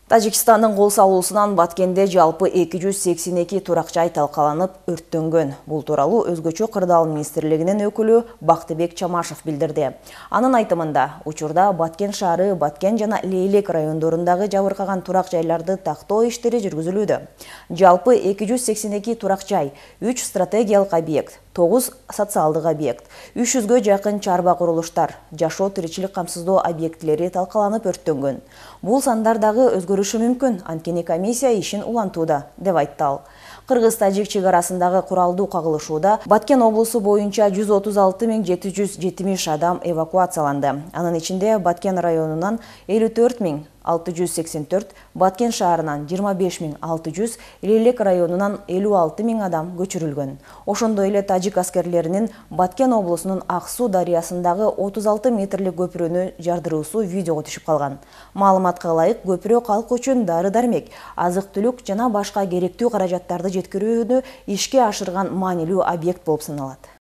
Тажикстандын кол салуусунан Баткенде жалпы 282 турак жай талкаланып, өрттөнгөн. Бул тууралуу Өзгөчө кырдаал министрлигинин өкүлү Бактыбек Чамашев билдирди. Анын айтымында, учурда Баткен шаары, Баткен жана Лейлек райондорундагы жабыркаган турак жайларды тактоо иштери жүргүзүлүүдө. Жалпы 282 турак жай, 3 стратегиялык объект, 9 социалдык объект, 300гө жакын чарба курулуштар, жашоо тиричилик камсыздоо объектилери талкаланып өрттөнгөн. Бул сандар дагы өзгөрүшү мүмкүн, анткени комиссия ишин улантууда, деп айтты ал. Кыргыз-тажик чек арасындагы куралдуу кагылышууда Баткен облусу боюнча 136 770 адам эвакуацияланды. Анын ичинде Баткен районунан 54 684, Баткен шаарынан 25 600, Лейлек районунан 56 000 адам көчүрүлгөн. Ошондой эле тажик аскерлеринин Баткен облусунун Ак Суу дарыясындагы 36 метрлик көпүрөнү жардыруусу видеого түшүп калган. Маалыматка ылайык, көпүрө калк үчүн дары-дармек, азык-түлүк жана башка керектүү каражаттарды жеткирүүнү ишке ашырган маанилүү объект болуп саналат.